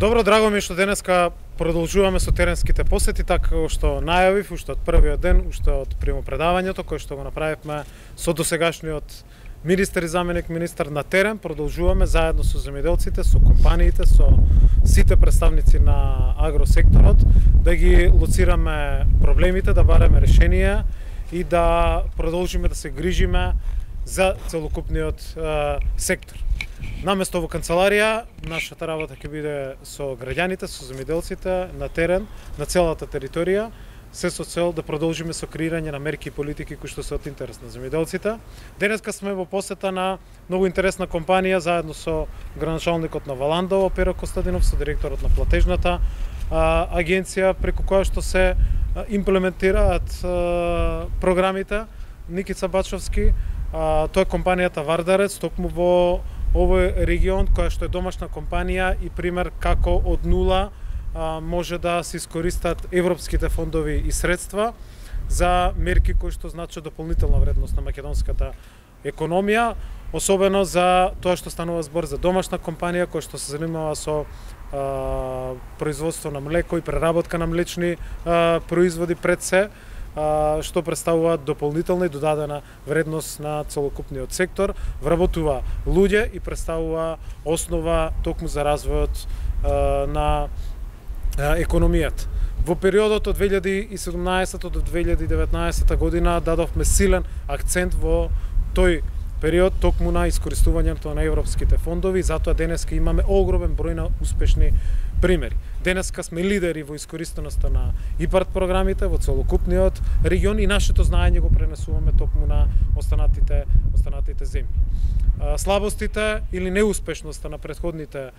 Добро, драго ми што денеска продолжуваме со теренските посети, така што најавив уште од првиот ден, уште од примопредавањето кој што го направивме со досегашниот министер и заменик министер на терен. Продолжуваме заедно со земјоделците, со компаниите, со сите представници на агросекторот да ги лоцираме проблемите, да бараме решенија и да продолжиме да се грижиме за целокупниот сектор. Наместо во канцеларија, нашата работа ќе биде со граѓаните, со земјоделците на терен, на целата територија, се со цел да продолжиме со креирање на мерки и политики кои што се од интерес на земјоделците. Денеска сме во посета на многу интересна компанија заедно со градоначалникот на Валандово, Перо Костадинов, со директорот на платежната агенција преку која што се имплементираат програмите. Никица Бачовски, тоа е компанијата Вардарец, токму во овој регион, која што е домашна компанија и пример како од нула може да се искористат европските фондови и средства за мерки кои што значат дополнителна вредност на македонската економија, особено за тоа што станува збор за домашна компанија која што се занимава со производство на млеко и преработка на млечни производи пред се, што представува дополнителна и додадена вредност на целокупниот сектор, вработува луѓе и представува основа токму за развојот на економијата. Во периодот од 2017 до 2019 година дадовме силен акцент во тој период токму на искористувањето на европските фондови, затоа денеска имаме огромен број на успешни примери. Денеска сме лидери во искористеноста на ИПАРТ програмите во целокупниот регион и нашето знаење го пренесуваме токму на останатите земји. Слабостите или неуспешноста на претходните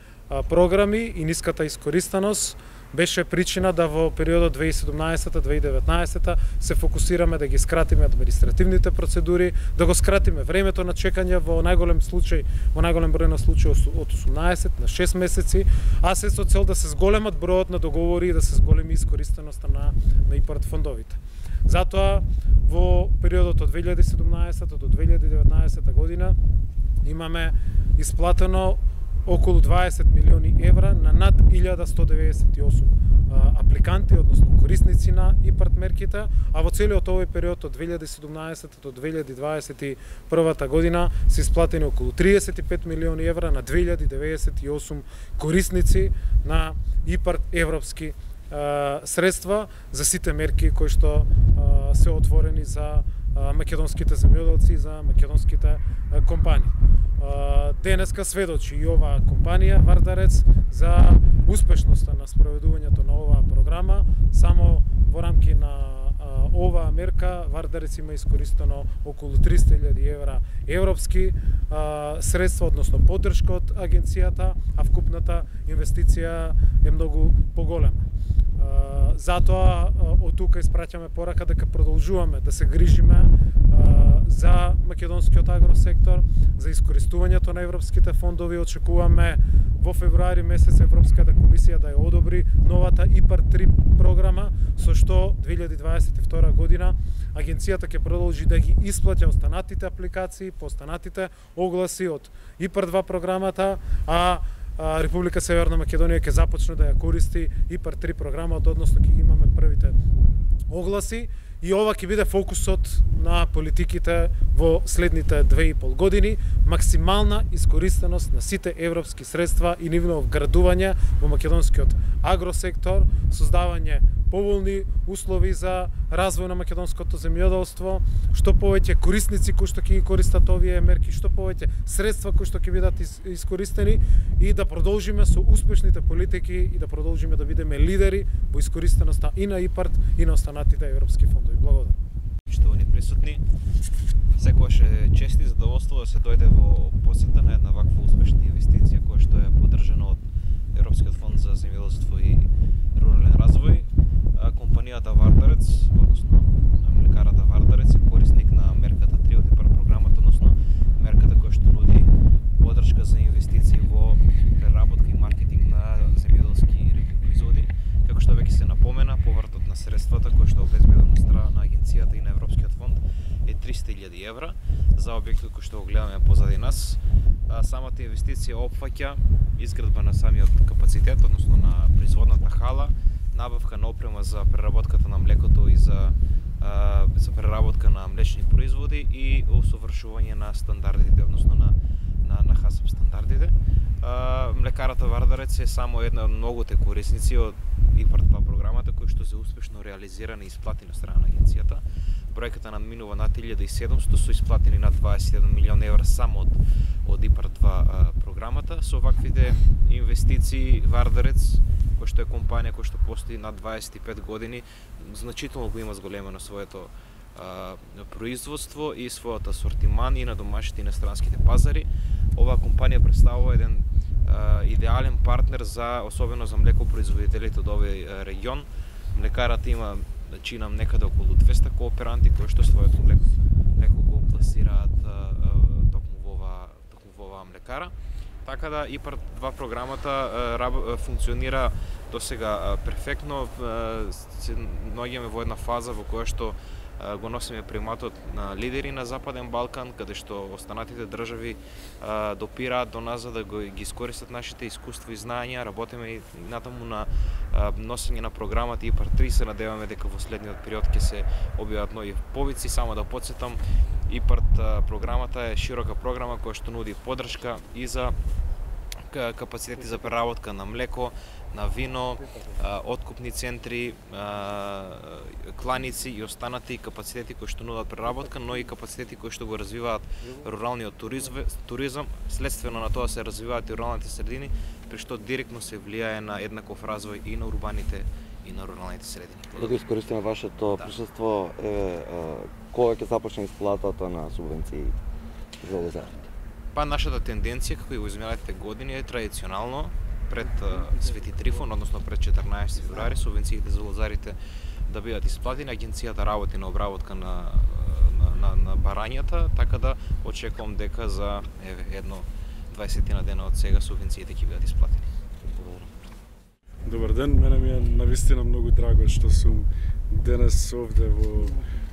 програми и ниската искористеност беше причина да во периодот 2017-2019 се фокусираме да ги скратиме административните процедури, да го скратиме времето на чекање во најголем број на случаи од 18 на 6 месеци, а се со цел да се зголемат бројот на договори и да се зголеми искористеноста на ИПАРТ фондовите. Затоа во периодот од 2017 до 2019 година имаме исплатено околу 20 милиони евра на над 1198 апликанти, односно корисници на ИПАРТ мерките, а во целиот овој период од 2017 до 2021 година се исплатени околу 35 милиони евра на 2098 корисници на ИПАРТ европски средства за сите мерки кои што се отворени за македонските земјоделци и за македонските компании. Денеска сведочи и оваа компанија Вардарец за успешноста на спроведувањето на оваа програма. Само во рамки на оваа мерка Вардарец има искористено околу 300.000 евра европски средства, односно поддршка од агенцијата, а вкупната инвестиција е многу поголема. Затоа од тука испраќаме порака дека продолжуваме да се грижиме за македонскиот агросектор, за искористувањето на европските фондови. Очекуваме во февруари месец Европската комисија да ја одобри новата ИПАРТ 3 програма, со што 2022 година агенцијата ќе продолжи да ги исплаќа останатите апликации по останатите огласи од ИПАРТ 2 програмата, а Република Северна Македонија ќе започне да ја користи ИПАРТ 3 програмата, односно ќе имаме првите огласи и ова ќе биде фокусот на политиките во следните 2,5 години, максимална искористеност на сите европски средства и нивно вградување во македонскиот агросектор, создавање поволни услови за развој на македонското земјоделство, што повеќе корисници кои што ќе ги користат овие мерки, што повеќе средства кои што ќе бидат искористени и да продолжиме со успешните политики и да продолжиме да бидеме лидери во искористеноста и на ИПАРТ и на останатите европски фондови. Благодарам. Поштовани присутни, секогаш е чест и задоволство да се дојде во посета на една ваква успешна инвестиција која што е поддржана од Европскиот фонд за земјоделство и рурален развој. Компанијата Вардарец, односно млекарата Вардарец, е корисник на мерката 3 од ИПАРТ програмата, односно мерката која што нуди поддршка за инвестиции во преработка и маркетинг на земјоделски производи. Како што веќе се напомена, повратот на средствата кои што обезбедено страна на агенцијата и на Европскиот фонд е 300.000 евра за објектот кој што го гледаме позади нас. Самата инвестиција опфаќа изградба на самиот капацитет, односно на производната хала, набавка на опрема за преработката на млекото и за преработка на млечни производи и усовршување на стандардите, односно на ХАСАП стандардите. Млекарата Вардарец е само една од многуте корисници од ИПАРД 2 програмата кои што се успешно реализирани и исплатени од страна на агенцијата. Бројката надминува над 1700, со исплатени над 21 милион евра само од ИПАРД 2 програмата. Со ваквите инвестиции Вардарец, кој што е компанија која што постои над 25 години, значително го има зголемено своето производство и својот асортиман и на домашните и на странските пазари. Оваа компанија представува еден идеален партнер особено за млекопроизводителите од овој регион. Млекарата има, чинам, некаде околу 200 кооперанти кои што своето млеко го пласираат токму во оваа млекара. Така да ИПАРД 2 програмата функционира досега перфектно. Се наоѓаме во една фаза во која што го носиме приматот на лидери на Западен Балкан, каде што останатите држави допираат до нас за да ги искористат нашите искуства и знаења. Работиме и натаму на носење на програмата ИПАРД 3. Се надеваме дека во следниот период ќе се објават нови повици. Само да потсетам, ИПАРД програмата е широка програма која што нуди поддршка и за капацитети за преработка на млеко, на вино, откупни центри, кланици и останати капацитети кои што нудат преработка, но и капацитети кои што го развиваат руралниот туризам. Следствено на тоа се развиваат и руралните средини, при што директно се влијае на еднаков развој и на урбаните и на руралните средини. Да го искористиме вашето присуство, кога ќе започне исплатата на субвенции за лозарите? Па нашата тенденција, како и во изминалите години, е традиционално пред Свети Трифон, односно пред 14 февруари, субвенциите за лозарите да бидат исплатени. Агенцијата работи на обработка на барањата, така да очекувам дека за едно 20 на дена од сега субвенциите ќе бидат исплатени. Добар ден, мене ми е навистина многу драго што сум денес овде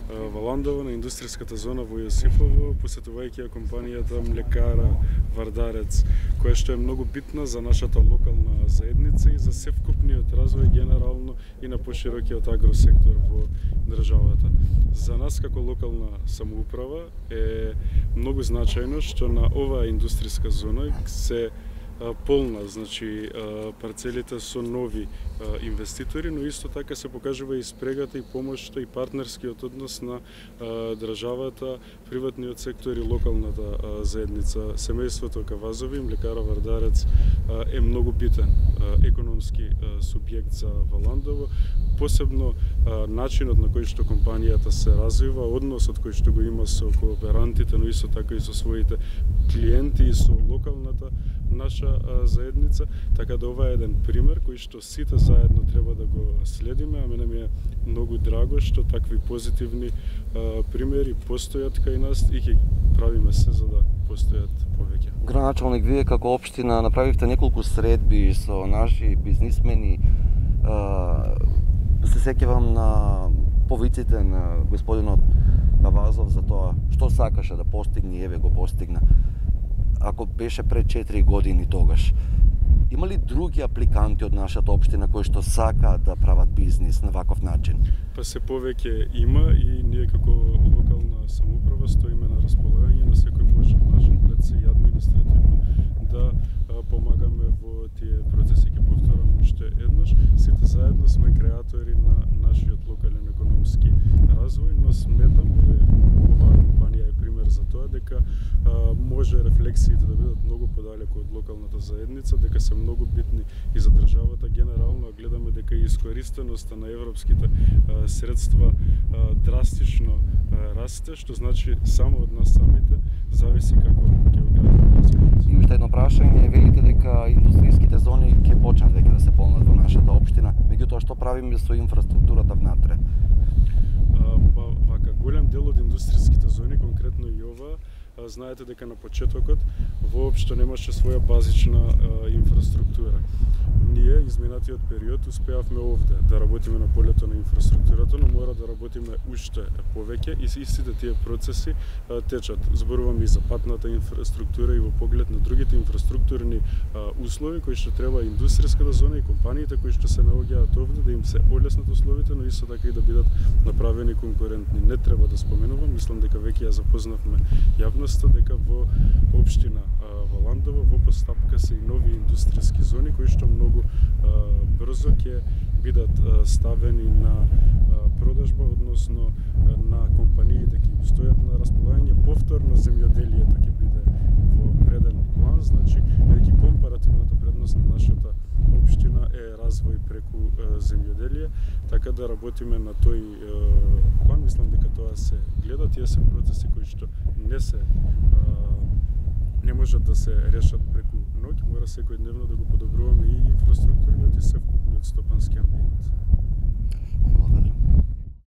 во Ландово, на индустријската зона во Јосифово, посетувајќи ја компанијата Млекара Вардарец, која што е многу битна за нашата локална заедница и за севкупниот развој генерално и на поширокиот агросектор во државата. За нас како локална самоуправа е многу значајно што на оваа индустријска зона се полна, значи парцелите со нови инвеститори, но исто така се покажува и спрегата и помошта и партнерскиот однос на државата, приватниот сектор и локалната заедница. Семејството Кавазови, Млекара Вардарец е многу битен економски субјект за Валандово, посебно начинот на кој што компанијата се развива, односот кој што го има со кооперантите, но исто така и со своите клиенти и со локалната наша заедница, така да ова е еден пример кој што сите заедно треба да го следиме, а мене ми е многу драго што такви позитивни примери постојат кај нас и ќе правиме се за да постојат повеќе. Граначалник, вие како општина направивте неколку средби со наши бизнисмени. Се сеќавам на повиците на господинот Кавазов за тоа што сакаше да постигне и еве го постигна. Ако беше пред 4 години тогаш, има ли други апликанти од нашата општина кои што сакаат да прават бизнис на ваков начин? Па се повеќе има и ние како локална самоуправа стоиме на располагање на секој можен начин, пред се и административно, да помагаме во тие процеси. Ќе повторам уште еднаш, сите заедно сме креатори на нашиот локален економски развој, но сметам, оваа компанија е пример за тоа, дека може рефлексиите да бидат многу подалеку од локалната заедница, дека се многу битни и за државата генерално, а гледаме дека и искористеноста на европските средства драстично расте, што значи само од нас самите зависи како ќе го градиме. И уште едно прашање, велите дека индустријските зони ќе почнат веќе да се полнат во нашата општина, меѓутоа што правиме со инфраструктурата внатре? Па вака голем дел од индустријските зони, конкретно и ова, знаете дека на почетокот воопшто немаше своја базична инфраструктура. Ние изминатиот период успеавме овде да работиме на полето на инфраструктурата, но мора да работиме уште повеќе и истите тие процеси течат. Зборувам и за патната инфраструктура и во поглед на другите инфраструктурни услови кои што треба индустријската зона и компаниите кои што се наоѓаат овде да им се олеснат условите, но исто така и да бидат направени конкурентни. Не треба да споменувам, мислам дека веќе ја запознавме јавноста дека во општина Валандово во постапка се и нови индустријски зони кои што многу брзо ќе бидат ставени на продажба, односно на компаниите ќе стојат на располагање. Повторно земјоделието ќе биде во преден план, значи веќе компаративната предност на нашата општина е развој преку земјоделие, така да работиме на тој план. Мислам дека тоа се гледа, тие се процеси кои што не можат да се решат преку ноќ, мора секојдневно да го подобруваме и инфраструктурниот и севкупниот стопански амбиент. Благодарам.